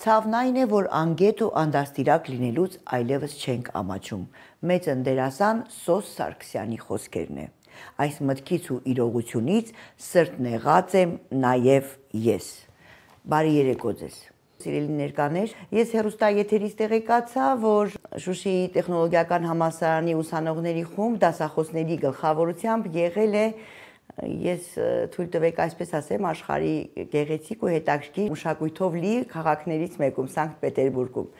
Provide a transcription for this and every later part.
Ցավն այն է, որ անգետ ու անդաստիրակ լինելուց այլևս չենք ամաչում։ Մեծ դերասան Սոս Սարգսյանի խոսքերն է։ Այս մտքից ու իրողությունից սրտն եղած եմ նաև ես։ Բարի երեկո ձեզ։ Սիրելի ներկաներ, ես հեռուստաեթերից տեղեկացա, որ Շուշիի տեխնոլոգիական համալսարանի ուսանողների խումբ դասախոսների գլխավորությամբ եղել է Ես թույլ տվեք այսպես ասեմ աշխարհի գեղեցիկ ու հետաքրքիր մշակույթով լի քաղաքներից մեկում Սանկտ Պետերբուրգում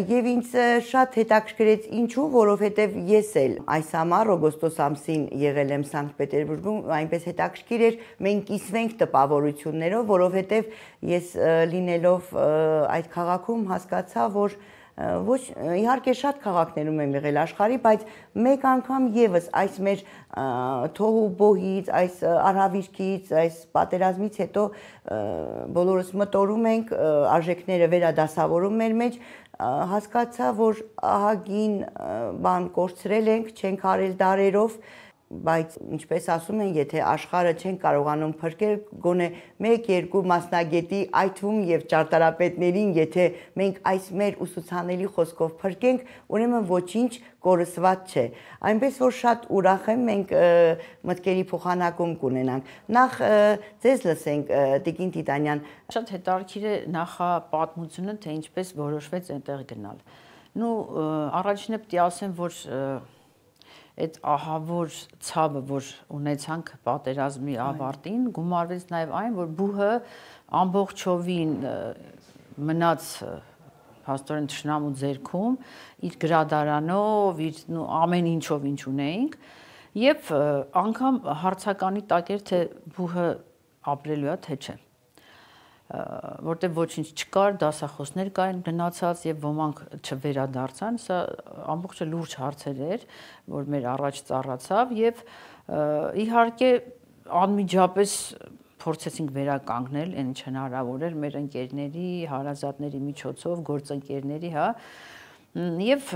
եւ ինձ շատ հետաքրքրեց ինչու որովհետեւ ես էլ այս ամառ օգոստոս ամսին եղել եմ Սանկտ Պետերբուրգում այնպես հետաքրքիր էր մենք կիսվենք տպավորություններով որովհետեւ ես լինելով այդ քաղաքում հասկացա որ ոչ իհարկե շատ քաղաքներում եմ եղել աշխարհի, բայց մեկ անգամ եւս այս մեր թոհու բոհից, այս արհավիրքից, այս պատերազմից հետո բոլորս մտորում ենք արժեքները վերադասավորում մեր մեջ, հասկացա, որ ահագին բան կորցրել ենք, չենք արել դարերով, բայց ինչպես ասում են, եթե աշխարհը չեն կարողանում փրկել, գոնե 1-2 մասնագետի, այդ թվում եւ ճարտարապետներին, եթե մենք այս մեր ուսուցանելի խոսքով փրկենք, ուրեմն ոչինչ կորսված չէ։ Այնպես որ շատ ուրախ եմ մենք մտքերի փոխանակում կունենանք։ Նախ ձեզ լսենք Տիկին Տիտանյան։ Շատ հետաքրքիր է նախապատմությունը, թե ինչպես որոշվեց այնտեղ գնալ։ Առաջինը պետք է ասեմ, որ այդ ահավոր ցավը, որ ունեցանք պատերազմի ավարտին, գումարվեց նաև այն, որ բուհը ամբողջովին մնաց փաստորեն թշնամու ձեռքում, իր գրադարանով, իր ամեն ինչով ինչ ունեինք, եւ անգամ հարցականի տակ էր, թե բուհը ապրելու է, թե չէ։ Որտեղ ոչինչ չկար, դասախոսներ կային գնացած եւ ոմանք չվերադարձան, սա ամբողջը լուրջ հարցեր էր, որ մեր առաջ ծառացավ եւ իհարկե անմիջապես փորձեցինք վերականգնել, այն ինչ հնարավոր էր մեր ընկերների, հարազատների միջոցով, գործընկերների, հա, եւ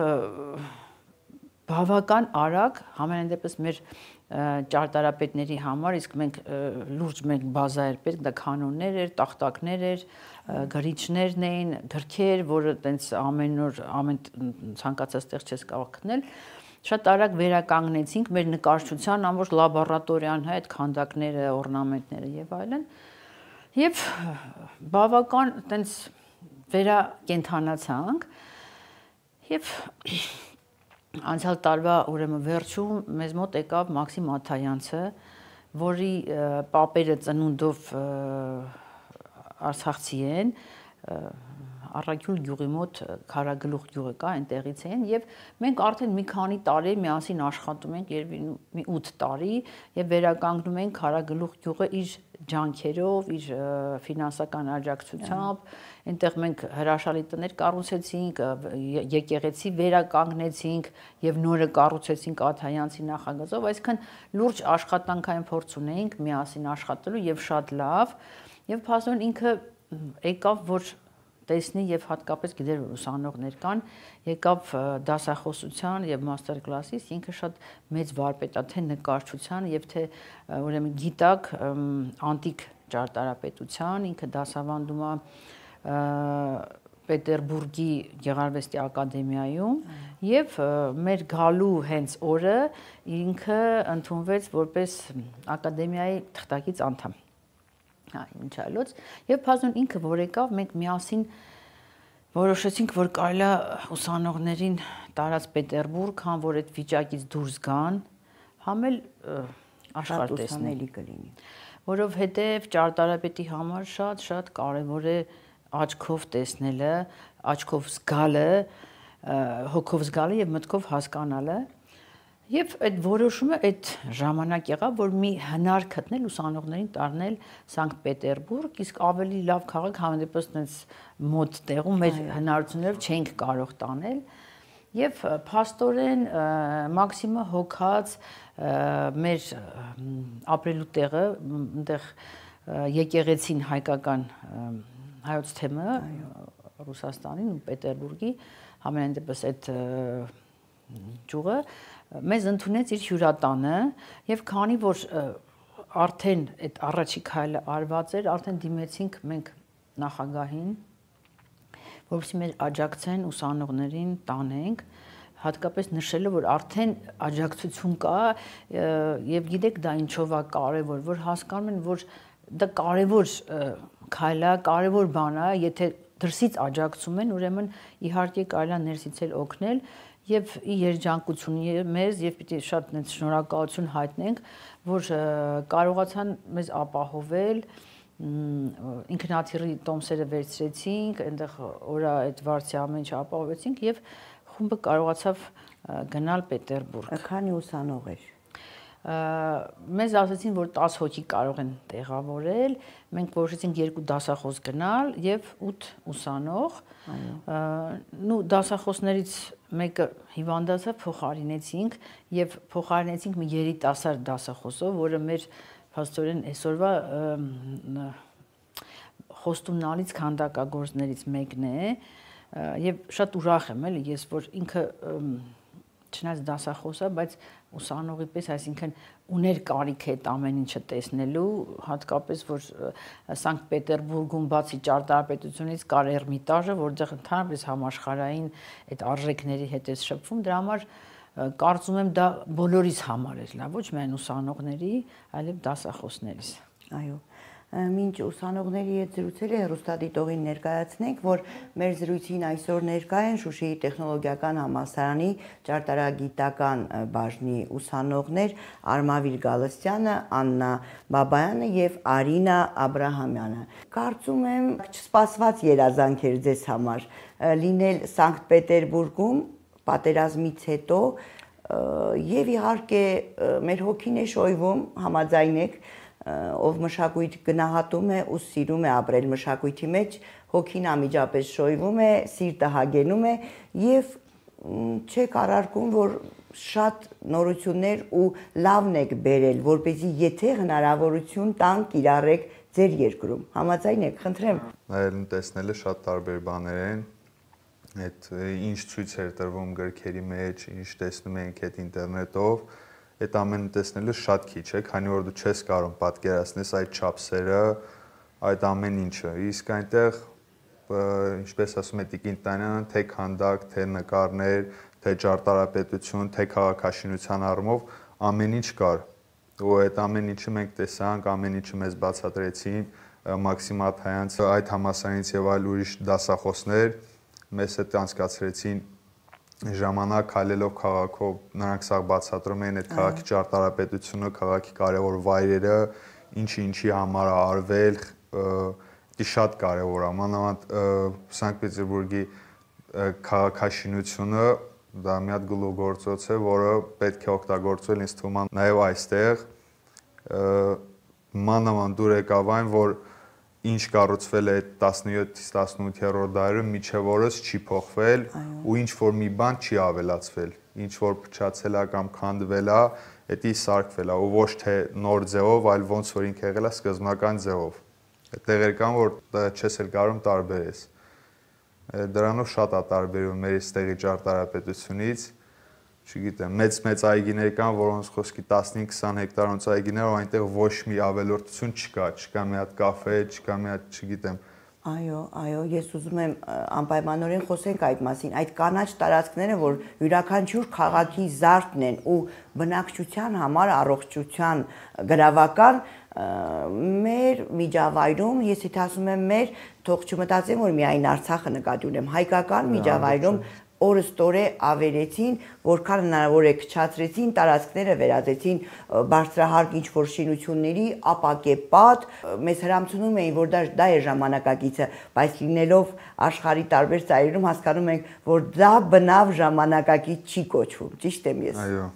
բավական արագ համենայն դեպս մեր ճարտարապետների համար իսկ մենք լուրջ բազա էր պետք, դա կանոններ էր, տախտակներ էր, գրիչներն էին, գրքեր, որը տենց ամեն օր ամեն ցանկացած տեղ չես կարող գտնել, շատ արագ վերականգնեցինք մեր նկարչության ամբողջ լաբորատորիան, հա, այդ քանդակները, օրնամենտները եւ այլն, եւ բավական տենց վերակենդանացանք եւ Անցյալ տարվա ուրեմն վերջում մեզ մոտ եկավ Մաքսիմ Աթայանցը, որի պապերը ծնունդով արցախցի են, Առաքյուն գյուղի մոտ Քարագլուխ գյուղը կա, այնտեղից են եւ մենք արդեն մի քանի տարի միասին աշխատում ենք, երևի 8 տարի եւ վերականգնում ենք Քարագլուխ գյուղը իր ջանքերով, իր ֆինանսական աջակցությամբ, այնտեղ մենք հրաշալի տներ կառուցեցինք, եկեղեցի վերականգնեցինք եւ նորը կառուցեցինք Աթայանցի նախագծով, այսինքն լուրջ աշխատանքային փորձ ունեինք միասին աշխատելու եւ շատ լավ եւ փաստորեն ինքը եկավ որ տեսնի եւ հատկապես գիտեր որ ուսանողներ կան, եկավ դասախոսության եւ մաստեր կլասից, ինքը շատ մեծ վարպետ է թե նկարչության եւ թե ուրեմն գիտակ անտիկ ճարտարապետության, ինքը դասավանդում է Պետերբուրգի Գեղարվեստի ակադեմիայում եւ մեր գալու հենց օրը ինքը ընդունվեց որպես ակադեմիայի թղթակից անդամ։ Ինչ այլոց եւ փաստորեն ինքը որ եկավ մենք միասին որոշեցինք որ կարելի է ուսանողներին տարած Պետերբուրգ համ որ այդ վիճակից դուրս գան համ էլ աշխարհ տեսնելի կլինի որովհետեւ ճարտարապետի համար շատ կարեւոր է աչքով տեսնելը աչքով զգալը հոգով զգալը եւ մտքով հասկանալը Եվ այդ որոշումը այդ ժամանակ եղավ, որ մի հնար գտնել ուսանողներին տանել Սանկտ Պետերբուրգ, իսկ ավելի լավ քաղաք համենայնպես այնպես մոտ տեղում մեր հնարություններով չենք կարող տանել։ Եվ փաստորեն Մաքսիմը հոգած մեր ապրելու տեղը, այնտեղ եկեղեցին հայկական հայոց թեմը Ռուսաստանին ու Պետերբուրգի համենայն դեպս այդ ճյուղը մեզ ընդունեց իր հյուրատանը եւ քանի որ արդեն այդ առաջի քայլը արված էր, արդեն դիմեցինք մենք նախագահին, որովհետեւ մեր աջակցեն ուսանողներին տանենք, հատկապես նշելով, որ արդեն աջակցություն կա եւ գիտեք դա ինչով է կարեւոր, որ հասկանում են, որ դա կարեւոր քայլ է, կարեւոր բան է, եթե դրսից աջակցում են, ուրեմն իհարկե կարելի է ներսից էլ օգնել եւ ի երջանկություն մեզ եւ պիտի շատ շնորհակալություն հայտնենք, որ կարողացան մեզ ապահովել, ինքնաթիռի տոմսերը վերցրեցինք, այնտեղ օրա այդ վարձի ամեն ինչ ապահովեցինք եւ խումբը կարողացավ գնալ Պետերբուրգ։ Քանի ուսանող էր։ Մեզ ասացին, որ 10 հոգի կարող են տեղավորել, մենք որոշեցինք 2 դասախոս գնալ եւ 8 ուսանող։ Նու դասախոսներից մեկը հիվանդացա, փոխարինեցինք եւ փոխարինեցինք մի երիտասարդ դասախոսով, որը մեր փաստորեն այսօրվա խոստումնալից քանդակագործներից մեկն է եւ շատ ուրախ եմ էլի ես, որ ինքը չնայած դասախոսը, բայց ուսանողի պես, այսինքն ուներ կարիք այդ ամեն ինչը տեսնելու, հատկապես որ Սանկտ Պետերբուրգում բացի ճարտարապետությունից կար Էրմիտաժը, որտեղ ընդհանրապես համաշխարհային այդ արժեքների հետ է շփվում, դրա համար կարծում եմ դա բոլորիս համար էր լավ, ոչ միայն ուսանողների, այլև դասախոսներիս։ Այո։ Մինչ ուսանողների հետ զրուցել է հեռուստադիտողին ներկայացնենք, որ մեր զրույցին այսօր ներկա են Շուշիի տեխնոլոգիական համալսարանի ճարտարագիտական բաժնի ուսանողներ Արմավիր Գալստյանը, Աննա Բաբայանը եւ Արինա Աբրահամյանը։ Կարծում եմ չսպասված երազանք էր ձեզ համար լինել Սանկտ Պետերբուրգում պատերազմից հետո եւ իհարկե մեր հոգին է շոյվում, համաձայն եք, ով մշակույթ գնահատում է ու սիրում է ապրել մշակույթի մեջ, հոգին անմիջապես շոյվում է, սիրտը հագենում է եւ չեք արարքում, որ շատ նորություններ ու լավն եք բերել, որպեսզի եթե հնարավորություն տան կիրառեք ձեր երկրում։ Համաձայն եք, խնդրեմ։ Այլ տեսնելը շատ տարբեր բաներ են, այդ ինչ ցույց էր տրվում գրքերի մեջ, ինչ տեսնում ենք այդ ինտերնետով, այդ ամենը տեսնելը շատ քիչ է, քանի որ դու չես կարող պատկերացնես այդ չափսերը, այդ ամեն ինչը։ Իսկ այնտեղ, ինչպես ասում է Տիկին Տանյանը, թե քանդակ, թե նկարներ, թե ճարտարապետություն, թե քաղաքաշինության առումով ամեն ինչ կար։ Ու այդ ամեն ինչը մենք տեսանք, ամեն ինչը մեզ բացատրեցին Մաքսիմ Աթայանց, այդ համալսարանից եւ այլ ուրիշ դասախոսներ, մեզ հետ անցկացրեցին ժամանակ քայլելով քաղաքով, նրանք սա բացատրում են այդ քաղաքի ճարտարապետությունը, քաղաքի կարևոր վայրերը, ինչի համար է արվել, դա շատ կարևոր է, մանավանդ Սանկտ Պետերբուրգի քաղաքաշինությունը, դա մի հատ գլուխգործոց է, որը պետք է օգտագործվել ինձ թվում է նաև այստեղ, մանավանդ դուր եկավ այն, որ ինչ կառուցվել է 17-ից 18-րդ դարերում մինչև օրս չի փոխվել ու ինչ որ մի բան չի ավելացվել, ինչ որ փչացել է կամ քանդվել է, դա սարքվել է ու ոչ թե նոր ձևով, այլ ոնց որ ինքը եղել է սկզբնական ձևով։ Այդտեղ կան որ չես էլ կարող տարբերես։ Դրանով շատ է տարբերվում մեր այստեղի ճարտարապետությունից, չգիտեմ, մեծ այգիներ կան, որոնց խոսքի 15-20 հեկտարանոց այգիներ, ու այնտեղ ոչ մի ավելորդություն չկա մի հատ կաֆե, չկա մի հատ, չգիտեմ։ Այո, ես ուզում եմ անպայմանորեն խոսենք այդ մասին, այդ կանաչ տարածքները, որ յուրաքանչյուր քաղաքի զարդն են ու բնակչության համար առողջության գրավական մեր միջավայրում, ես եթե ասում եմ մեր, թող չմտածեմ, որ միայն Արցախը նկատի ունեմ, հայկական միջավայրում օրստորե ավերեցին, որքան հնարավոր է քչացրեցին, տարածքները վերածեցին բարձրահարկ ինչ-որ շինությունների, ապակեպատ, մեզ հրամցնում էին, որ դա է ժամանակակիցը, բայց լինելով աշխարհի տարբեր ծայրերում հասկանում ենք, որ դա բնավ ժամանակակից չի կոչվում, ճիշտ եմ ես։ Այո։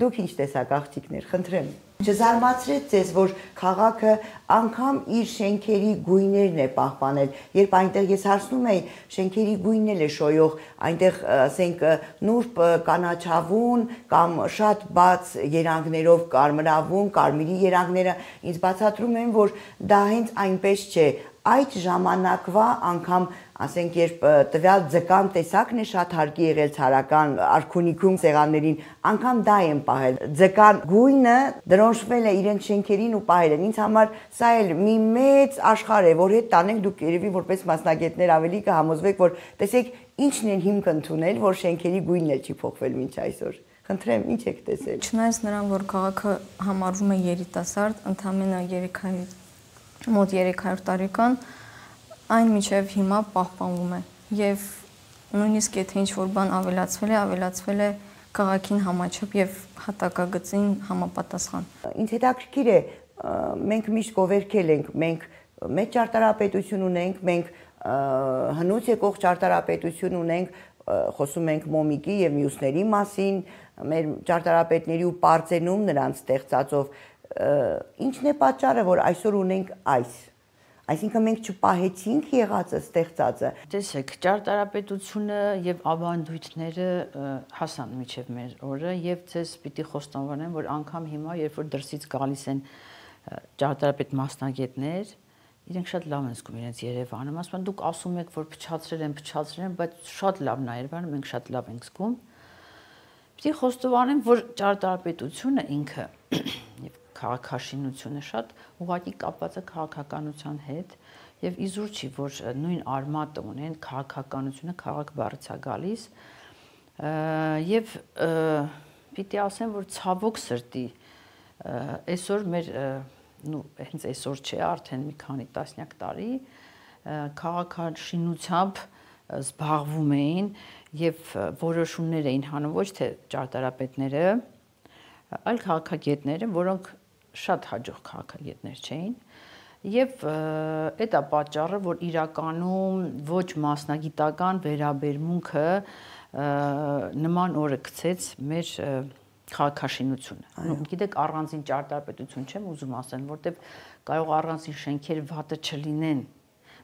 Դուք ինչ տեսակ աղջիկներ, խնդրեմ։ Չզարմացրեց ձեզ, որ քաղաքը անգամ իր շենքերի գույներն է պահպանել, երբ այնտեղ ես հարցնում էի, շենքերի գույնն էլ է շոյող, այնտեղ, ասենք, նուրբ կանաչավուն կամ շատ բաց երանգներով կարմրավուն, կարմիրի երանգները ինձ բացատրում են, որ դա հենց այնպես չէ, այդ ժամանակվա անգամ ասենք երբ տվյալ ձկան տեսակն է շատ հարկի եղել ցարական արքունիքում սեղաններին, անգամ դա են պահել։ Ձկան գույնը դրոնշվել է իրենց շենքերին ու պահել են։ Ինձ համար սա էլ մի մեծ աշխարհ է, որ հետ տանենք դուք երևի որպես մասնագետներ ավելի կհամոզվեք, որ տեսեք ինչն են հիմք ընդունել, որ շենքերի գույնն էլ չի փոխվել մինչ այսօր։ Խնդրեմ, ինչ եք տեսել։ Չնայած նրան, որ քաղաքը համարվում է երիտասարդ, ընդամենը մոտ 300 տարեկան, այն մինչև հիմա պահպանվում է եւ նույնիսկ եթե ինչ-որ բան ավելացվել է քաղաքին համաչափ եւ հատակագծին համապատասխան։ Ինձ հետաքրքիր է, մենք միշտ գովերքել ենք, մենք մեծ ճարտարապետություն ունենք, մենք հնուց եկող ճարտարապետություն ունենք, խոսում ենք Մոմիկի եւ մյուսների մասին, մեր ճարտարապետների ու պարծենում նրանց ստեղծածով, ինչն է պատճառը, որ այսօր ունենք այս։ Այսինքն մենք չպահեցինք եղածը, ստեղծածը։ Տեսեք, ճարտարապետությունը եւ ավանդույթները հասան միջև մեր օրը եւ ձեզ պիտի խոստովանեմ, որ անգամ հիմա, երբ որ դրսից գալիս են ճարտարապետ մասնագետներ, իրենք շատ լավ են զգում իրենց Երևանը, ասում են դուք ասում եք, որ փչացրել են, բայց շատ լավն է Երևանը, մենք շատ լավ ենք զգում։ Պիտի խոստովանեմ, որ ճարտարապետությունը ինքը եւ քաղաքաշինությունը շատ ուղղակի կապված է քաղաքականության հետ եւ իզուր չի, որ նույն արմատը ունեն քաղաքականությունը, քաղաք բառից է գալիս եւ պիտի ասեմ, որ ցավոք սրտի այսօր մեր հենց այսօր չէ, արդեն մի քանի տասնյակ տարի քաղաքաշինությամբ զբաղվում էին եւ որոշումներ էին հանում ոչ թե ճարտարապետները, այլ քաղաքագետները, որոնք շատ հաջող քաղաքագետներ չէին եւ այդ է պատճառը, որ իրականում ոչ մասնագիտական վերաբերմունքը նման օրը գցեց մեր քաղաքաշինությունը։ Գիտեք, առանձին ճարտարապետություն չեմ ուզում ասել, որտեվ կարող առանձին շենքեր վատը չլինեն,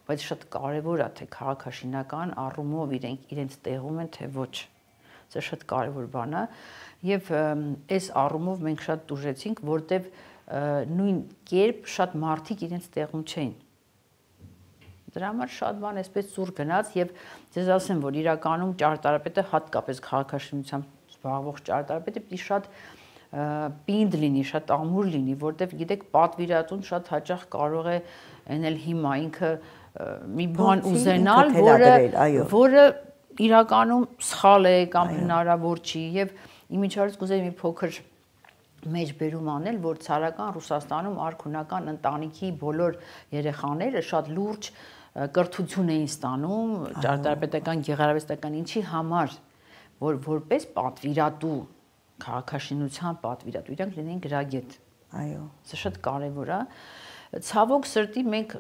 բայց շատ կարեւոր է թե քաղաքաշինական առումով իրենց տեղում են թե ոչ։ Սա շատ կարեւոր բան է եւ այս առումով մենք շատ դժեցինք, որտեվ նույն կերպ շատ մարդիկ իրենց տեղում չէին։ Դրա համար շատ բան այսպես ծուր գնաց եւ ձեզ ասեմ, որ իրականում ճարտարապետը հատկապես քաղաքաշինությամբ զբաղվող ճարտարապետը պիտի շատ պինդ լինի, շատ ամուր լինի, որտեվ գիտեք, պատվիրատուն շատ հաճախ կարող է ենել հիմա ինքը մի բան ուզենալ, որը իրականում սխալ է կամ հնարավոր չի եւ իմիջիայլոց կուզեի մի փոքր մեջբերում անել, որ ցարական Ռուսաստանում արքունական ընտանիքի բոլոր երեխաները շատ լուրջ կրթություն էին ստանում ճարտարապետական, գեղարվեստական ինչի համար, որ որպես պատվիրատու, քաղաքաշինության պատվիրատու, իրանք լինեն գրագետ։ Այո։ Սա շատ կարևոր է։ Ցավոք սրտի մենք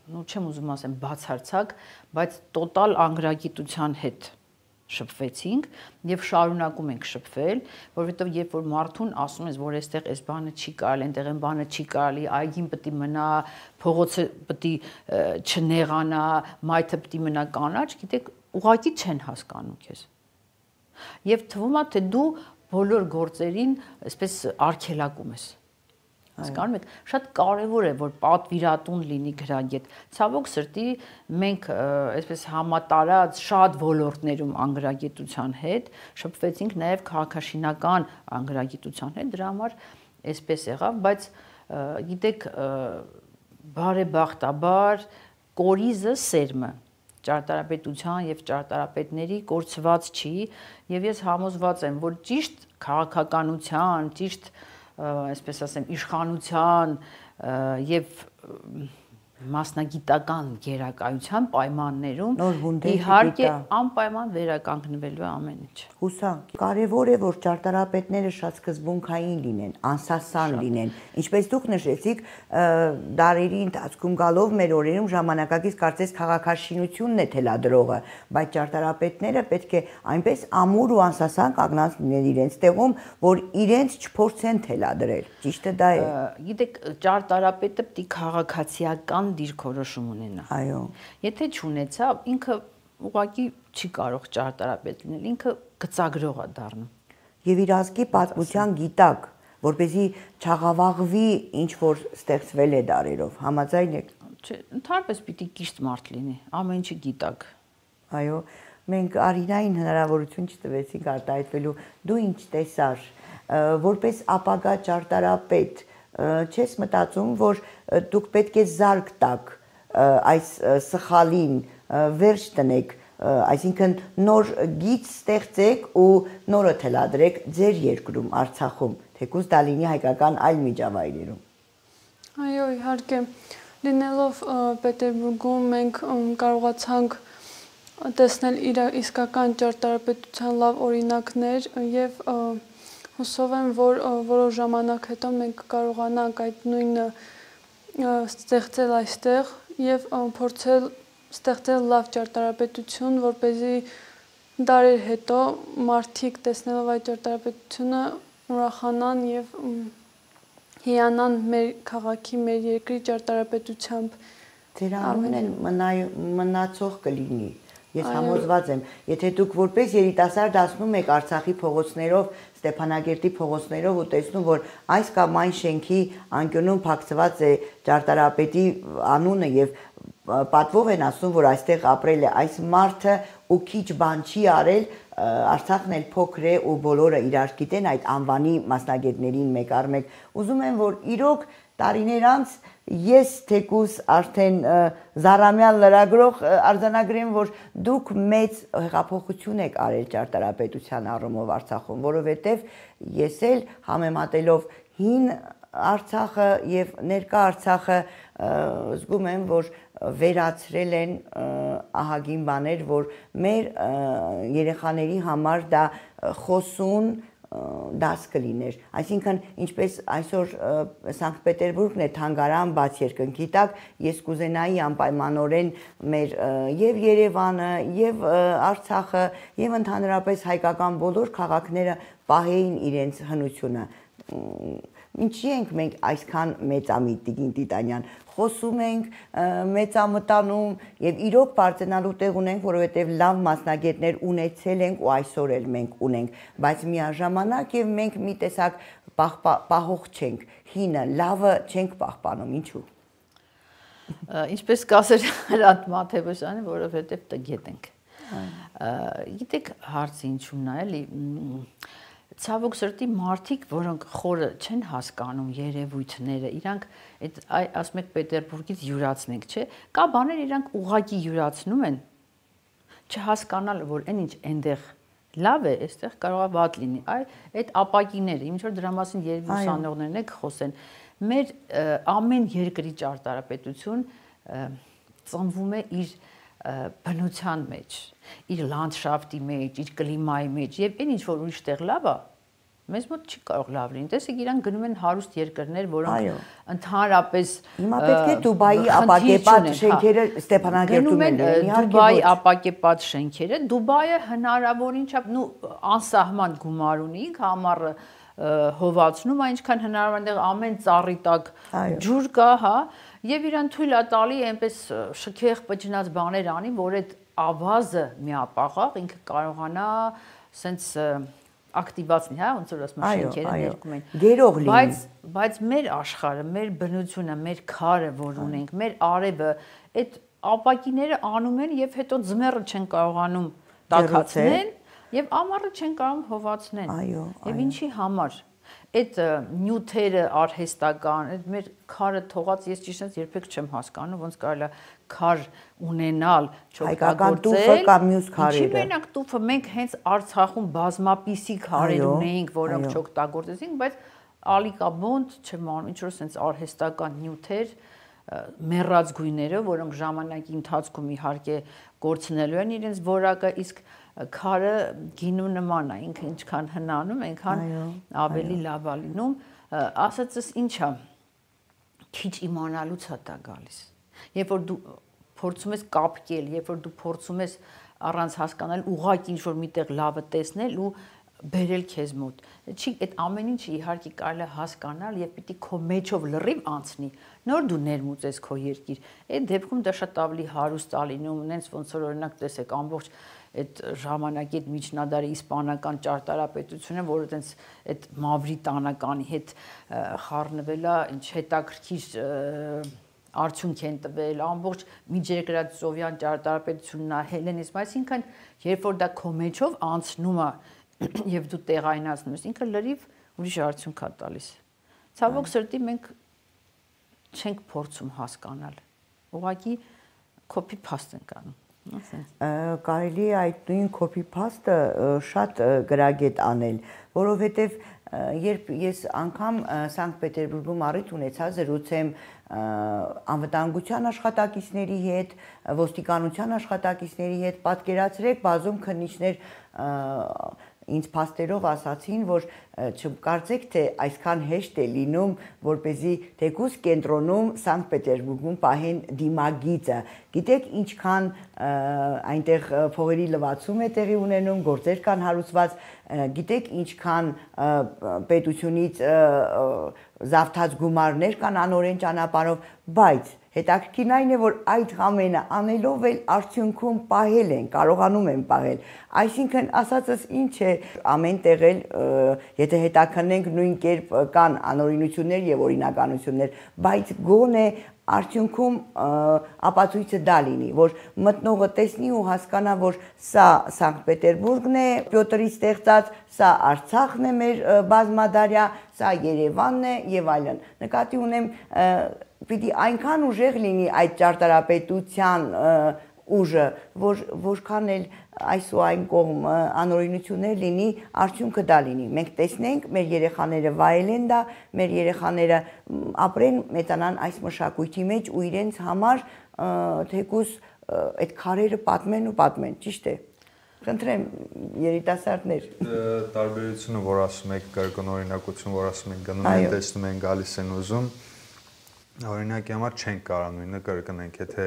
չեմ ուզում ասեմ բացարձակ, բայց տոտալ անգրագիտության հետ շփվեցինք եւ շարունակում ենք շփվել, որովհետեւ երբ որ մարդուն ասում ես, որ այստեղ այս բանը չի կարելի, այնտեղ այն բանը չի կարելի, այգին պետք է մնա, փողոցը պետք է չնեղանա, մայթը պետք է մնա կանաչ, գիտեք, ուղղակի չեն հասկանում քեզ։ Եվ թվում է, թե դու բոլոր գործերին այսպես արգելակում ես։ Հասկանում եք, շատ կարևոր է, որ պատվիրատուն լինի գրագետ։ Ցավոք սրտի մենք այսպես համատարած շատ ոլորտներում անգրագիտության հետ շփվեցինք նաև քաղաքաշինական անգրագիտության հետ, դրա համար այսպես եղավ, բայց գիտեք, բարեբախտաբար կորիզը սերմը ճարտարապետության եւ ճարտարապետների կորցված չի եւ ես համոզված եմ, որ ճիշտ քաղաքականության, ճիշտ այսպես ասեմ, իշխանության եւ մասնագիտական գերակայության պայմաններում իհարկե անպայման վերականգնվելու է ամեն ինչ։ Հուսանք, կարևոր է, որ ճարտարապետները շատ սկզբունքային լինեն, անսասան լինեն, ինչպես դուք նշեցիք, դարերի ընթացքում գալով մեր օրերում ժամանակակից կարծես քաղաքաշինությունն է թելադրողը, բայց ճարտարապետները պետք է այնպես ամուր ու անսասան կանգնած լինեն իրենց տեղում, որ իրենց չփորձեն թելադրել։ Ճիշտը դա է։ Գիտեք, ճարտարապետը պետք է քաղաքացիական դիրքորոշում ունենա։ Այո։ Եթե չունեցավ, ինքը ուղղակի չի կարող ճարտարապետ լինել, ինքը գծագրող է դառնում։ Եվ իր ազգի պատմության գիտակ, որպեսզի չաղավաղվի ինչ որ ստեղծվել է դարերով, համաձայն եք։ Չէ, ընդհանրապես պիտի ճիշտ մարդ լինի, ամեն ինչի գիտակ։ Այո, մենք Արինային հնարավորություն չտվեցինք արտահայտվելու։ Դու ինչ տեսար, որպես ապագա ճարտարապետ, չես մտածում, որ դուք պետք է զարկ տաք այս սխալին, վերջ տնեք, այսինքն նոր գիծ ստեղծեք ու նորը թելադրեք ձեր երկրում, Արցախում, թեկուզ դա լինի հայկական այլ միջավայրերում։ Այո, իհարկե, լինելով Պետերբուրգում մենք կարողացանք տեսնել իր իսկական ճարտարապետության լավ օրինակներ եւ հուսով եմ, որ որոշ ժամանակ հետո մենք կարողանանք այդ նույնը ստեղծել այստեղ եւ փորձել ստեղծել լավ ճարտարապետություն, որպեսզի դարեր հետո մարդիկ տեսնելով այդ ճարտարապետությունը ուրախանան եւ հիանան մեր քաղաքի, մեր երկրի ճարտարապետությամբ։ Ձեր անունն մնացող կլինի։ Ես համոզված եմ, եթե դուք որպես երիտասարդ ասնում եք Արցախի փողոցներով, Ստեփանագերտի փողոցներով ու տեսնում, որ այս կամ այն շենքի անկյունում փակցված է ճարտարապետի անունը եւ պատվով են ասում, որ այստեղ ապրել է այս մարդը ու քիչ բան չի արել, Արցախն էլ փոքր է ու բոլորը իրար գիտեն այդ անվանի մասնագետներին մեկ առ մեկ։ Ուզում եմ, որ իրոք տարիներ անց ես թեկուս արդեն զարամյալ լրագրող արձանագրեմ, որ դուք մեծ հեղափոխություն եք արել ճարտարապետության առումով Արցախում, որովհետև ես էլ համեմատելով հին Արցախը եւ ներկա Արցախը զգում եմ, որ վերացրել են ահագին բաներ, որ մեր երեխաների համար դա խոսուն դաս կլիներ, այսինքն ինչպես այսօր Սանկտ Պետերբուրգն է թանգարան բաց երկնքի տակ, ես կուզենայի անպայմանորեն մեր եւ Երևանը, եւ Արցախը, եւ ընդհանրապես հայկական բոլոր քաղաքները պահեին իրենց հնությունը։ Ինչի ենք մենք այսքան մեծամիտ Տիկին Տիտանյան, խոսում ենք, մեծամտանում եւ իրոք բարձրանալու տեղ ունենք, որովհետեւ լավ մասնագետներ ունեցել ենք ու այսօր էլ մենք ունենք, բայց միաժամանակ եւ մենք մի տեսակ պահող չենք, հինը, լավը չենք պահպանում, ինչու։ Ինչպես կասեր Հրանտ Մաթևոսյանը, որովհետեւ տգետ ենք։ Գիտեք հարցը ինչու՞մն է, էլի ցավոք սրտի մարդիկ, որոնք խորը չեն հասկանում երևույթները, իրանք այդ ասում եք Պետերբուրգից յուրացնենք, չէ՞, կա բաներ իրանք ուղղակի յուրացնում են, չհասկանալ, որ այն ինչ այնտեղ լավ է, այստեղ կարող է վատ լինի։ Այդ ապակիները, ինչ որ դրա մասին երբ ուսանողներն եք խոսեն, մեր ամեն երկրի ճարտարապետություն ծնվում է իր բնության մեջ, իր լանդշաֆտի մեջ, իր կլիմայի մեջ եւ այն ինչ որ ուրիշ տեղ լավ է, մեզ մոտ չի կարող լավ լինի։ Տեսեք, իրանք գնում են հարուստ երկրներ, որոնք ընդհանրապես հիմա պետք է Դուբայի ապակեպատ շենքերը Ստեփանագերտում են, Դուբայի ապակեպատ շենքերը, Դուբայը հնարավորին չափ անսահման գումար ունի, ինքը ամառը հովացնում, այնքան հնարավոր այնտեղ ամեն ծառի տակ ջուր կա, հա, եւ իրան թույլ է տալի այնպես շքեղ պճնած բաներ անի, որ այդ ավազը միապաղաղ ինքը կարողանա սենց ակտիվացնի, հա, ոնց որ ասում են շենքերը ներկում են։ Գերող լինի։ Բայց մեր աշխարհը, մեր բնությունը, մեր քարը, որ ունենք, մեր արևը, այդ ապակիները անում են եւ հետո ձմեռը չեն կարողանում տաքացնել եւ ամառը չեն կարող հովացնել։ Եվ ինչի համար։ Այդ նյութերը արհեստական, այդ մեր քարը թողած ես ճիշտ երբեք չեմ հասկանում, ոնց կարելի է քար ունենալ, չօգտագործել կամ մյուս քարերը։ Ինչի մենակ տուֆը մենք հենց Արցախում բազմապիսի քարեր ունեինք, որոնք չօգտագործեցինք, բայց ալիկաբոնդ չեմ անում, ինչ որ sense արհեստական նյութեր, մեռած գույները, որոնք ժամանակի ընթացքում իհարկե կորցնելու են իրենց որակը, իսկ քարը գինու նման է, ինքը ինչքան հնանում, այնքան ավելի լավ է լինում, ասածս ինչ է, քիչ իմանալուց է դա գալիս։ Երբ որ դու փորձում ես կապկել, երբ որ դու փորձում ես առանց հասկանալ ուղղակի ինչ-որ միտեղ լավը տեսնել ու բերել քեզ մոտ։ Չի այդ ամեն ինչը իհարկե կարելի է հասկանալ եւ պիտի քո մեջով լրիվ անցնի, նոր դու ներմուծես քո երկիր։ Այդ դեպքում դա շատ ավելի հարուստ է լինում, նենց ոնց որ օրինակ տեսեք ամբողջ այդ ժամանակի այդ միջնադարի իսպանական ճարտարապետությունը, որը տենց այդ մավրիտանականի հետ խառնվել է, ինչ հետաքրքիր արդյունք են տվել, ամբողջ միջերկրածովյան ճարտարապետությունն է, հելենիզմը, այսինքն երբ որ դա քո մեջով անցնում է եւ դու տեղայնացնում ես, ինքը լրիվ ուրիշ արդյունք է տալիս։ Ցավոք սրտի մենք չենք փորձում հասկանալ։ Ուղղակի copy paste ենք անում։ Կարելի է այդ նույն copy paste-ը շատ գրագետ անել, որովհետեւ երբ ես անգամ Սանկտ Պետերբուրգում առիթ ունեցա զրուցեմ անվտանգության աշխատակիցների հետ, ոստիկանության աշխատակիցների հետ, պատկերացրեք բազում քննիչներ ինձ փաստերով ասացին, որ չկարծեք, թե այսքան հեշտ է լինում, որպեսզի թեկուզ կենտրոնում Սանկտ Պետերբուրգում պահեն դիմագիծը։ Գիտեք, ինչքան այնտեղ փողերի լվացում է տեղի ունենում, գործեր կան հարուցված, գիտեք, ինչքան պետությունից զավթած գումարներ կան անօրեն ճանապարհով, բայց հետաքրքիրն այն է, որ այդ ամենը անելով էլ արդյունքում պահել են, կարողանում են պահել։ Այսինքն ասածս ինչ է, ամեն տեղ էլ եթե հետաքննենք նույն կերպ կան անօրինություններ եւ օրինականություններ, բայց գոնե արդյունքում ապացույցը դա լինի, որ մտնողը տեսնի ու հասկանա, որ սա Սանկտ Պետերբուրգն է, Պյոտրի ստեղծած, սա Արցախն է մեր բազմադարյա, սա Երևանն է եւ այլն։ Նկատի ունեմ պիտի այնքան ուժեղ լինի այդ ճարտարապետության ուժը, որքան էլ այս ու այն կողմ անօրինություններ լինի, արդյունքը դա լինի։ Մենք տեսնենք, մեր երեխաները վայելեն դա, մեր երեխաները ապրեն, մեծանան այս մշակույթի մեջ ու իրենց համար թեկուզ այդ քարերը պատմեն ու պատմեն, ճիշտ է։ Խնդրեմ, երիտասարդներ։ Տարբերությունը, որ ասում եք, կրկնօրինակություն, որ ասում եք, գնում են, տեսնում են, գալիս են ուզում, օրինակի համար չենք կարող նույնը կրկնենք, եթե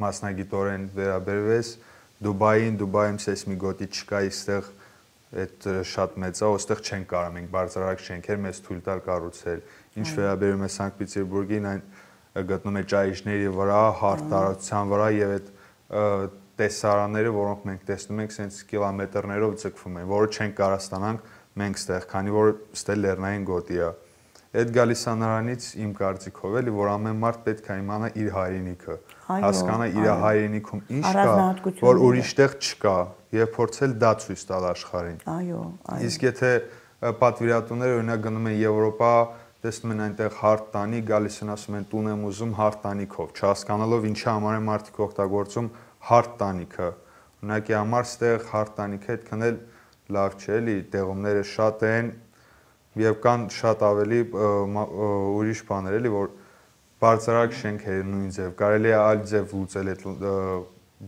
մասնագիտորեն վերաբերվես Դուբայում սեյսմիկ չկա, այստեղ այդ շատ մեծ է, այստեղ չենք կարող մենք բարձրարակ շենքեր մեզ թույլ տալ կառուցել։ Ինչ վերաբերում է Սանկտ Պետերբուրգին, այն գտնում է ճահիճների վրա, հարթարության վրա եւ այդ տեսարանները, որոնք մենք տեսնում ենք, սենց կիլոմետրներով ձգվում են, որը չենք կարող ստանանք մենք ստեղ, քանի որ ստե լեռնային գոտի է։ Այդ գալիս է նրանից իմ կարծիքով էլի, որ ամեն մարդ պետք է իմանա իր հայրենիքը, հասկանա իր հայրենիքում ինչ կա, որ ուրիշտեղ չկա, եւ փորձել դա ցույց տալ աշխարհին։ Այո, այո։ Իսկ եթե պատվիրատուները օրինակ գնում են Եվրոպա, տեսնում են այնտեղ հարթ տանի, գալիս են ասում են տուն եմ ուզում հարթ տանիքով, չհասկանալով ինչի համար են մարդիկ օգտագործում հարթ տանիքը։ Օրինակի համար ստեղ հարթ տանիքը այդքան էլ լավ չէ, էլի, տեղումները շատ են եւ կան շատ ավելի ուրիշ բաներ էլի, որ բարձրարակ շենքեր նույն ձև, կարելի է այլ ձև լուծել այդ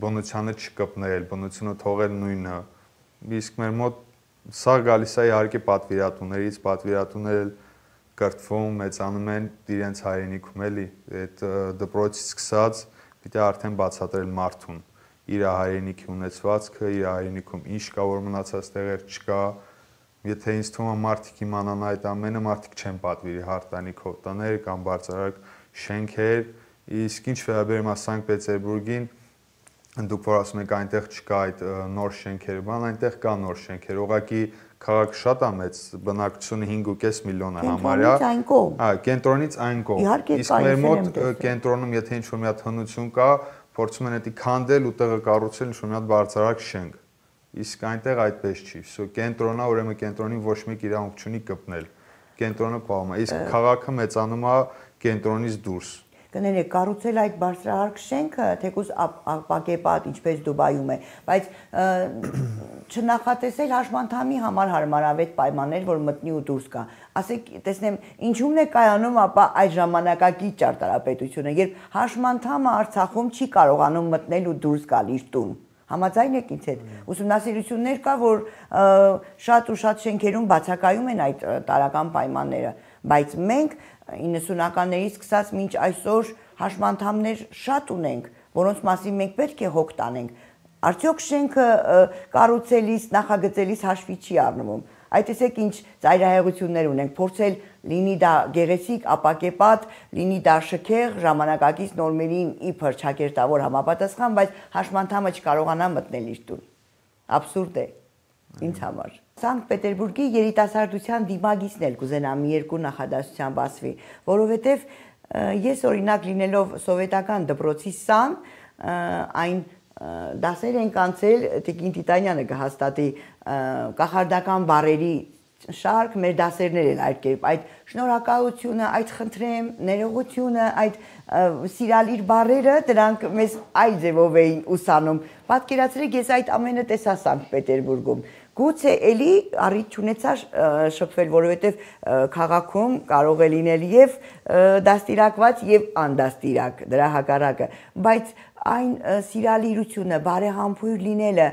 բնությանը չկպնել, բնությունը թողել նույնը։ Իսկ մեր մոտ սա գալիս է իհարկե պատվիրատուներից, պատվիրատուները կրթվում, մեծանում են իրենց հայրենիքում էլի, այդ դպրոցից սկսած պիտի արդեն բացատրել մարդուն իր հայրենիքի ունեցվածքը, իր հայրենիքում ինչ կա, որ մնացած տեղեր չկա։ Եթե ինձ թվում է մարդիկ իմանան այդ ամենը, մարդիկ չեն պատվիրի հարթանիքով տներ կամ բարձրարակ շենքեր, իսկ ինչ վերաբերում է Սանկտ Պետերբուրգին, դուք որ ասում եք այնտեղ չկա այդ նոր շենքերը, բան այնտեղ կա նոր շենքեր, ուղղակի քաղաքը շատ է մեծ, բնակչությունը 5.5 միլիոն է համարյա։ Կենտրոնից այն կողմ։ Կենտրոնից այն կողմ։ Իսկ մեր մոտ կենտրոնում եթե ինչ-որ մի հատ հնություն կա, փորձում են դա քանդել ու տեղը կառուցել ինչ-որ մի հատ բարձրարակ շենք։ Իսկ այնտեղ այդպես չի։ Կենտրոնը, ուրեմն կենտրոնին ոչ մեկ իրավունք չունի կպնել։ Կենտրոնը պահում է, իսկ քաղաքը մեծանում է կենտրոնից դուրս։ Կներեք, կառուցել այդ բարձրահարկ շենքը, թեկուզ ապակեպատ, ինչպես Դուբայում է, բայց չնախատեսել հաշմանդամի համար հարմարավետ պայմաններ, որ մտնի ու դուրս գա։ Ասեք, տեսնեմ, ինչու՞մն է կայանում ապա այդ ժամանակակից ճարտարապետությունը, երբ հաշմանդամը Արցախում չի կարողանում մտնել ու դուրս գալ իր տուն։ Համաձայն եք ինձ հետ։ Ուսումնասիրություններ կա, որ շատ ու շատ շենքերում բացակայում են այդ տարրական պայմանները, բայց մենք 90-ականներից սկսած մինչ այսօր հաշմանդամներ շատ ունենք, որոնց մասին մենք պետք է հոգ տանենք։ Արդյոք շենքը կառուցելիս, նախագծելիս հաշվի չի առնվում։ Այդ տեսեք ինչ ծայրահեղություններ ունենք, փորձել լինի դա գեղեցիկ, ապակեպատ, լինի դա շքեղ, ժամանակակից նորմերին իբր ճակերտավոր համապատասխան, բայց հաշմանդամը չկարողանա մտնել իր տուն։ Աբսուրդ է ինձ համար։ Սանկտ Պետերբուրգի երիտասարդության դիմագիծն էլ կուզենամ մի երկու նախադասությամբ ասվի, որովհետև Ես օրինակ լինելով սովետական դպրոցի սան, այն դասեր ենք անցել, Տիկին Տիտանյանը կհաստատի կախարդական բառերի շարք, մեր դասերներ են այդ կերպ, այդ շնորհակալությունը, այդ խնդրեմ, ներողությունը, այդ սիրալիր բառերը, դրանք մեզ այլ ձևով էին ուսանում։ Պատկերացրեք, ես այդ ամենը տեսա Սանկտ Պետերբուրգում։ Գուցե էլի առիթ չունեցա շփվել, որովհետև քաղաքում կարող է լինել եւ դաստիարակված եւ անդաստիարակ, դրա հակառակը, բայց այն սիրալիրությունը, բարեհամբույր լինելը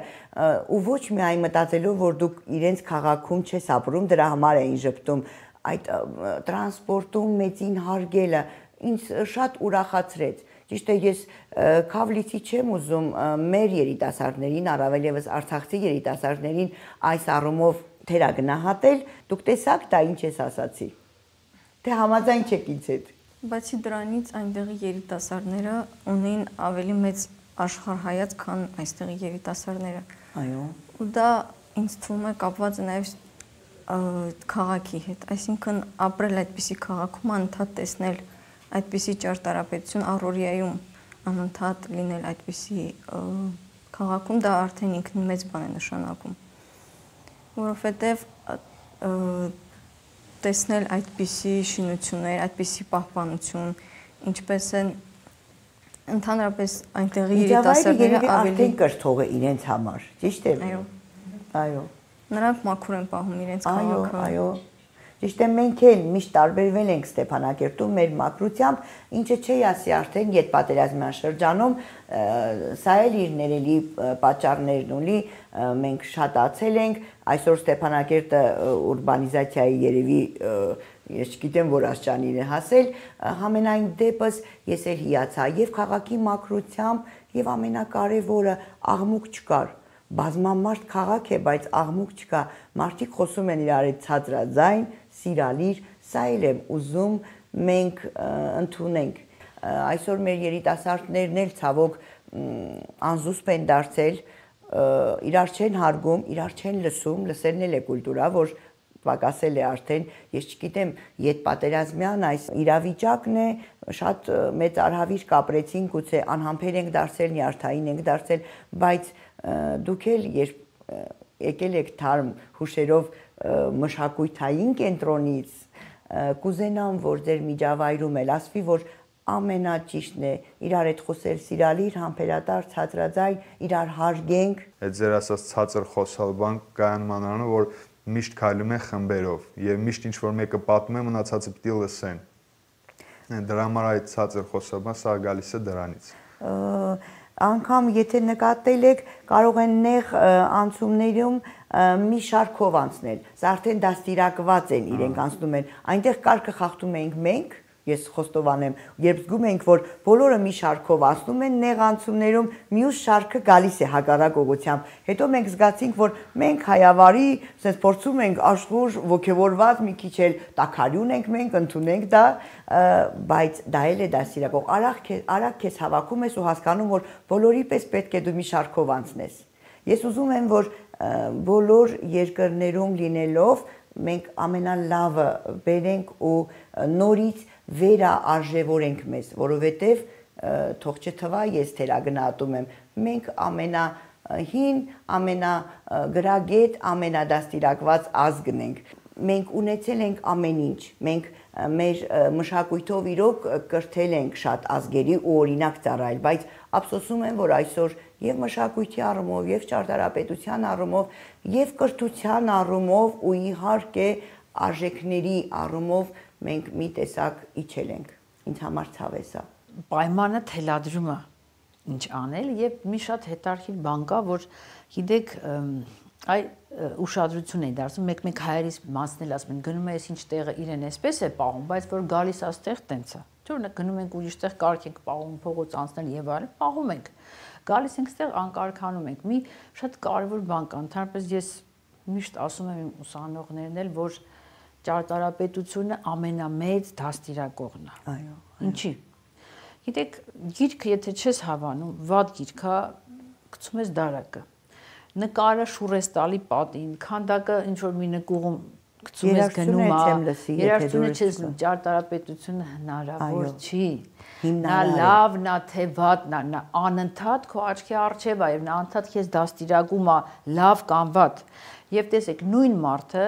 ու ոչ միայն մտածելով, որ դուք իրենց քաղաքում չես ապրում, դրա համար էին ժպտում, այդ տրանսպորտում մեծին հարգելը ինձ շատ ուրախացրեց։ Ճիշտ է, ես քավլիցի չեմ ուզում մեր երիտասարդներին, առավել եւս արցախցի երիտասարդներին այս առումով թերագնահատել, դուք տեսաք դա ինչ ես ասացի։ Թե համաձայն չեք ինձ հետ։ Բացի դրանից այնտեղի երիտասարդները ունեն ավելի մեծ աշխարհայացք, քան այստեղի երիտասարդները։ Այո։ Ու դա ինձ թվում է կապված է նաեւ քաղաքի հետ, այսինքն ապրել այդպիսի քաղաքում անընդհատ տեսնել այդպիսի ճարտարապետություն առօրյայում անընդհատ լինել այդպիսի քաղաքում դա արդեն ինքնին մեծ բան է նշանակում, որովհետև տեսնել այդպիսի շինություններ, այդպիսի պահպանություն, ինչպես են ընդհանրապես այնտեղի երիտասարդները ավելի կրթող է իրենց համար, ճիշտ է։ Այո։ Այո։ Նրանք մաքուր են պահում իրենց քաղաքը։ Այո։ Ճիշտ է, մենք էլ միշտ տարբերվել ենք Ստեփանակերտում մեր մակրությամբ, ինչը չի ասի արդեն յետպատերազմյան շրջանում, սա էլ իր ներելի պատճառներն ունի, մենք շատացել ենք, այսօր Ստեփանակերտը ուրբանիզացիայի երևի ես չգիտեմ որ աստիճանին է հասել, համենայն դեպս ես էլ հիացա եւ քաղաքի մակրությամբ եւ ամենակարևորը աղմուկ չկար։ Բազմամարդ քաղաք է, բայց աղմուկ չկա, մարդիկ խոսում են իրար հետ ցածրաձայն, սիրալիր, սա էլ եմ ուզում մենք ընդունենք։ Այսօր մեր երիտասարդներն էլ ցավոք անզուսպ են դարձել, իրար չեն հարգում, իրար չեն լսում, լսելն էլ է կուլտուրա, որ պակասել է արդեն, ես չգիտեմ, յետպատերազմյան այս իրավիճակն է, շատ մեծ արհավիր կապրեցին, գուցե անհամբեր ենք դարձել, նյարդային ենք դարձել, բայց դուք էլ երբ եկել եք թարմ հուշերով մշակույթային կենտրոնից, կուզենամ, որ ձեր միջավայրում էլ ասվի, որ ամենաճիշտն է իրար հետ խոսել սիրալիր, համբերատար, ցածրաձայն, իրար հարգենք։ Այդ ձեր ասած ցածր խոսալ բան կայանմանանը, որ միշտ քայլում են խմբերով եւ միշտ ինչ որ մեկը պատմում է, մնացածը պիտի լսեն։ Դրա համար այդ ցածր խոսալը սա գալիս է դրանից։ Անգամ եթե նկատել եք, կարող են նեղ անցումներում մի շարքով անցնել։ Սա արդեն դաստիարակված են, իրենք անցնում են։ Այնտեղ կարգը խախտում ենք մենք, ես խոստովանեմ, երբ զգում ենք, որ բոլորը մի շարքով անցնում են նեղ անցումներում, մյուս շարքը գալիս է հակառակ ուղղությամբ։ Հետո մենք զգացինք, որ մենք հայավարի, ասես փորձում ենք աշխուժ ոգևորված մի քիչ էլ տաքարյուն ենք մենք, ընդունենք դա, բայց դա էլ է դաստիարակող։ Արագ քեզ հավաքում ես ու հասկանում, որ բոլորի պես պետք է դու մի շարքով անցնես։ Ես ուզում եմ, որ բոլոր երկրներում լինելով մենք ամենալավը բերենք ու նորից վերաարժևորենք մեզ, որովհետև թող չթվա ես թերագնահատում եմ, մենք ամենահին, ամենագրագետ, ամենադաստիարակված ազգն ենք։ Մենք ունեցել ենք ամեն ինչ, մենք մեր մշակույթով իրոք կրթել ենք շատ ազգերի ու օրինակ ծառայել, բայց ափսոսում եմ, որ այսօր եւ մշակույթի առումով, եւ ճարտարապետության առումով, եւ կրթության առումով ու իհարկե արժեքների առումով մենք մի տեսակ իջել ենք։ Ինձ համար ցավ է սա։ Պայմանը թելադրումը ինչ անել եւ մի շատ հետարքիր բան կա, որ գիտեք այ ուշադրություն էին դարձնում, մեկ հայերից մասնել ասում են գնում է այս ինչ տեղը իրեն էսպես է պահում, բայց որ գալիս աստեղ տենց է։ Թուրնը գնում ենք ուրիշ տեղ կարգ ենք պահում, փողոց անցնել եւ այլն, պահում ենք։ Գալիս ենք ստեղ անկարգանում ենք։ Մի շատ կարևոր բան կա, ընդհանրապես ես միշտ ասում եմ իմ ուսանողներն էլ, որ ճարտարապետությունը ամենամեծ դաստիարակողն է։ Այո։ Ինչի։ Գիտեք, գիրքը եթե չես հավանում, վատ գիրք է, գցում ես դարակը։ Նկարը շուռ ես տալի պատին, քանդակը ինչ որ մի նկուղում գցում ես գնում է, երաժշտությունը չես լսում, ճարտարապետությունը հնարավոր չի։ Նա լավն է, թե վատն է, նա անընդհատ քո աչքի առջև է եւ նա անընդհատ քեզ դաստիարակում է լավ կամ վատ։ Եվ տեսեք, նույն մարդը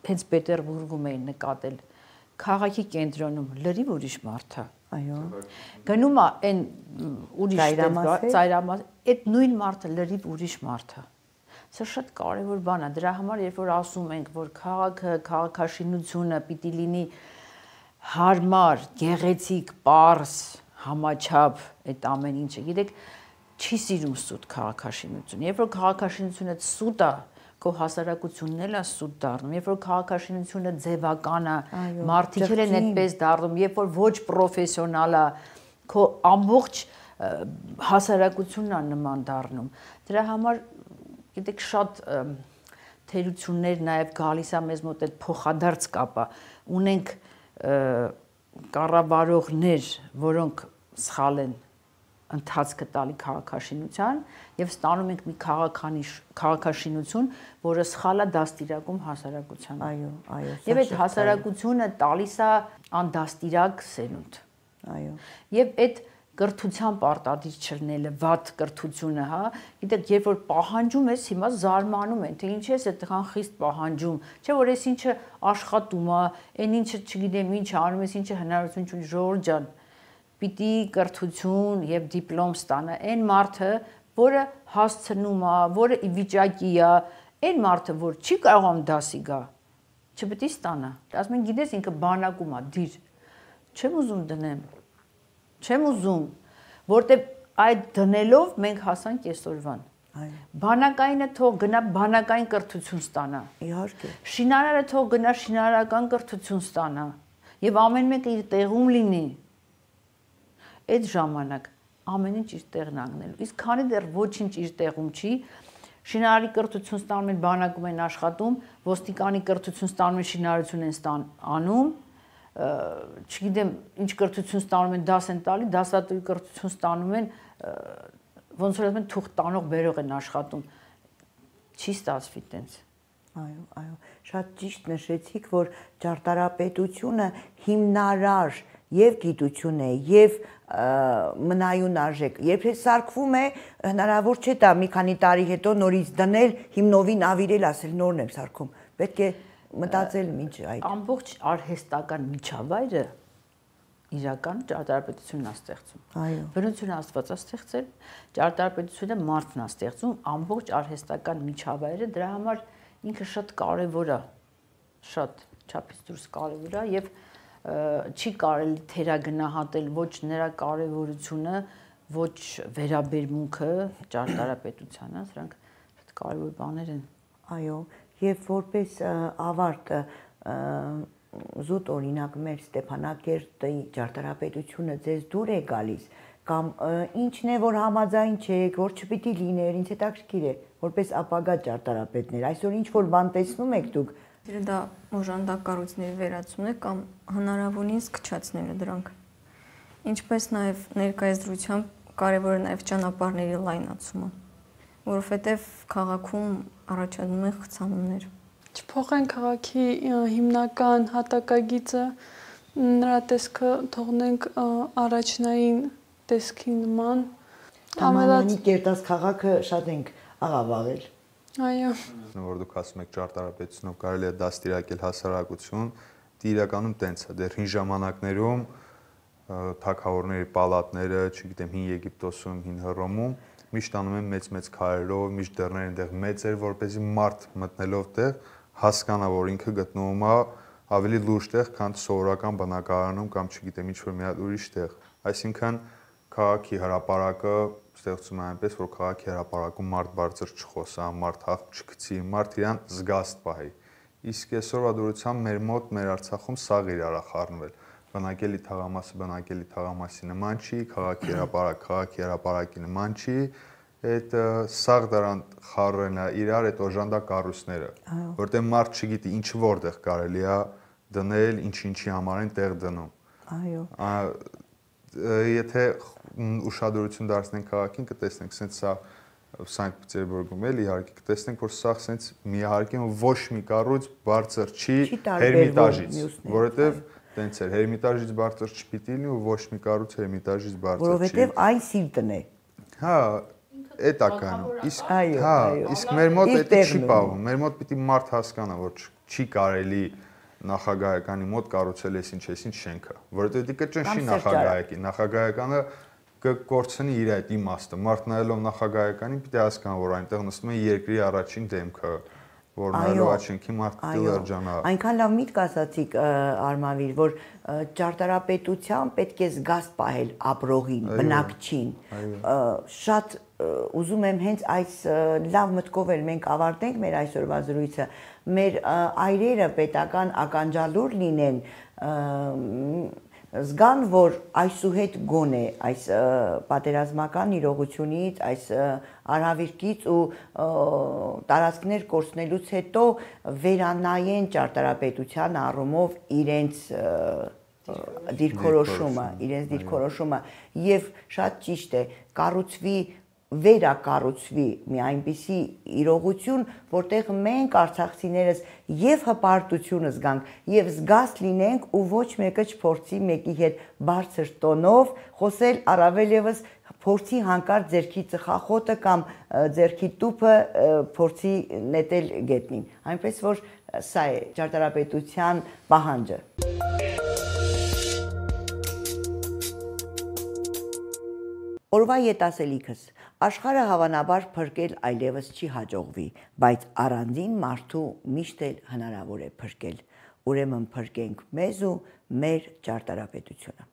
հենց Պետերբուրգում էին նկատել, քաղաքի կենտրոնում լրիվ ուրիշ մարդ է։ Այո։ Գնում է այն ուրիշ ծայրամաս, այդ նույն մարդը լրիվ ուրիշ մարդ է։ Սա շատ կարևոր բան է, դրա համար երբ որ ասում ենք, որ քաղաքը, քաղաքաշինությունը պիտի լինի հարմար, գեղեցիկ, պարզ, համաչափ, այդ ամեն ինչը։ Գիտեք, չի սիրում սուտ քաղաքաշինություն։ Երբ որ քաղաքաշինությունը սուտ է, քո հասարակությունն էլ է սուտ դառնում։ Երբ որ քաղաքաշինությունը ձևական է, մարդիկ են այդպես դառնում, երբ որ ոչ պրոֆեսիոնալ է, քո ամբողջ հասարակությունն է նման դառնում։ Դրա համար գիտեք շատ թերություններ նաև գալիս է մեզ մոտ այդ փոխադարձ կապը ունենք կառավարողներ, որոնք սխալ են ընթացքը տալի քաղաքաշինության եւ ստանում ենք մի քաղաքաշինություն, որը սխալ է դաստիարակում հասարակությանը։ Այո, եւ այդ հասարակությունը տալիս է անդաստիրակ սերունդ։ Այո։ Եվ այդ կրթության պարտադիր չլինելը, վատ կրթությունը, հա, գիտեք, երբ որ պահանջում ես, հիմա զարմանում են, թե ինչ ես այդքան խիստ պահանջում, չէ՞ որ այս ինչը աշխատում է, այն ինչը չգիտեմ ինչ անում ես, ինչը հնարավորություն չունի, ժողովուրդ ջան, պիտի կրթություն եւ դիպլոմ ստանա այն մարդը, որը հասցնում է, որը ի վիճակի է, այն մարդը, որ չի կարողանում դասի գա, չպետք է ստանա։ Ասում են, գիտես, ինքը բանակում է, դիր։ Չեմ ուզում դնեմ։ Չեմ ուզում, որտեվ այդ դնելով մենք հասանք այսօրվան։ Բանակայինը թող գնա բանակային կրթություն ստանա։ Իհարկե։ Շինարարը թող գնա շինարարական կրթություն ստանա։ Եվ ամեն մեկը իր տեղում լինի։ Այդ ժամանակ ամեն ինչ իր տեղն անգնելու։ Իսկ քանի դեռ ոչինչ իր տեղում չի, շինարարի կրթություն ստանում են, բանակում են աշխատում, ոստիկանի կրթություն ստանում են, շինարարություն են անում, չգիտեմ, ինչ կրթություն ստանում են, դաս են տալի, դասատուի կրթություն ստանում են, ոնց որ ասում են, թուղթ տանող բերող են աշխատում։ Չի ստացվի տենց։ Այո, շատ ճիշտ նշեցիք, որ ճարտարապետությունը հիմնարար եւ գիտություն է, եւ մնայուն արժեք։ Երբ սարքվում է, հնարավոր չէ դա մի քանի տարի հետո նորից դնել, հիմնովին ավիրել, ասել նորն եմ սարքում։ Պետք է մտածել ինչ այդ։ Ամբողջ արհեստական միջավայրը իրական ճարտարապետությունն է ստեղծում։ Այո։ Բնությունը Աստված է ստեղծել, ճարտարապետությունը մարդն է ստեղծում, ամբողջ արհեստական միջավայրը, դրա համար ինքը շատ կարևոր է, շատ չափից դուրս կարևոր է եւ չի կարելի թերագնահատել ոչ նրա կարևորությունը, ոչ վերաբերմունքը ճարտարապետությանը, սրանք շատ կարևոր բաներ են։ Այո, եւ որպես ավարտ զուտ օրինակ մեր Ստեփանակերտի ճարտարապետությունը ձեզ դուր է գալիս կամ ինչն է որ համաձայն չեք, որ չպիտի լիներ, ինձ հետաքրքիր է, որպես ապագա ճարտարապետներ, այսօր ինչ որ բան տեսնում եք դուք, դա օժանդակ կառույցների վերացումն է կամ հնարավորինս քչացնելը դրանք։ Ինչպես նաև ներկայիս դրությամբ կարևոր է նաև ճանապարհների լայնացումը, որովհետև քաղաքում առաջանում են խցանումներ։ Չփոխեն քաղաքի հիմնական հատակագիծը, նրա տեսքը թողնենք առաջնային տեսքի նման։ Համալանի Կերտաս քաղաքը շատ ենք աղավաղել։ Այո։ Որ դուք ասում եք ճարտարապետությունով կարելի է դաստիարակել հասարակություն, դե իրականում տենց է, դեռ հին ժամանակներում թագավորների պալատները, չգիտեմ, հին Եգիպտոսում, հին Հռոմում միշտ անում են մեծ-մեծ քարերով, միշտ դռները այնտեղ մեծ էր, որպեսզի մարդ մտնելով տեղ հասկանա, որ ինքը գտնվում է ավելի լուրջ տեղ, քան սովորական բնակարանում կամ չգիտեմ ինչ-որ մի հատ ուրիշ տեղ։ Այսինքն քաղաքի հրապարակը ստեղծում է այնպես, որ քաղաքի հրապարակում մարդ բարձր չխոսա, մարդ հավ չգցի, մարդ իրան զգաստ պահի։ Իսկ այսօրվա դուրսությամբ մեր մոտ, մեր Արցախում սաղ իրար է խառնվել։ Բնակելի թաղամասը բնակելի թաղամասի նման չի, քաղաքի հրապարակի նման չի, այդ սաղ դրան խառնելն է իրար այդ օժանդակ կառույցները, որտեղ մարդ չգիտի ինչ որտեղ կարելի է դնել, ինչի համար են տեղ դնում։ Այո։ Եթե ուշադրություն դարձնենք քաղաքին, կտեսնենք, սենց սա Սանկտ Պետերբուրգում էլ իհարկե կտեսնենք, որ սա sense միահարկի ոչ մի կառույց բարձր չի Հերմիտաժից, որովհետև տենց էր Հերմիտաժից բարձր չպիտի լինի ու ոչ մի կառույց Հերմիտաժից բարձր չի։ Որովհետև այն Սիլտն է։ Հա, էդ է կանում։ Իսկ հա, իսկ մեր մոտ դա չի պահվում։ Մեր մոտ պիտի մարդ հասկանա, որ չի կարելի նախագահականի մոտ կառուցել այսինչ շենքը, որովհետև դա կճնշի նախագահակի։ Նախագահականը կկորցնի իր այդ իմաստը։ Մարդ նայելով նախագահականին պիտի հասկանա, որ այնտեղ նստում է երկրի առաջին դեմքը, որ նայելով աչքին մարդ դիլերջանա։ Այնքան լավ միտք ասացիք Արմավիր, որ ճարտարապետության պետք է զգաստ պահել ապրողին, բնակչին։ Շատ ուզում եմ հենց այս լավ մտքով էլ մենք ավարտենք մեր այսօրվա զրույցը։ Մեր այրերը պետական ականջալուր լինեն, զգան, որ այսուհետ գոնե այս պատերազմական իրողությունից, այս արհավիրքից ու տարածքներ կորցնելուց հետո վերանայեն ճարտարապետության առումով իրենց դիրքորոշումը եւ շատ ճիշտ է կառուցվի վերակառուցվի մի այնպիսի իրողություն, որտեղ մենք արցախցիներս եւ հպարտությունը զգանք եւ զգաստ լինենք ու ոչ մեկը չփորձի մեկի հետ բարձր տոնով խոսել, առավել եւս փորձի հանկարծ ձերքի ծխախոտը կամ ձերքի տուփը փորձի նետել գետնին։ Այնպես որ սա է ճարտարապետության պահանջը։ Օրվա ետասելիքս աշխարհը հավանաբար փրկել այլևս չի հաջողվի, բայց առանձին մարդու միշտ էլ հնարավոր է փրկել։ Ուրեմն փրկենք մեզ ու մեր ճարտարապետությունը։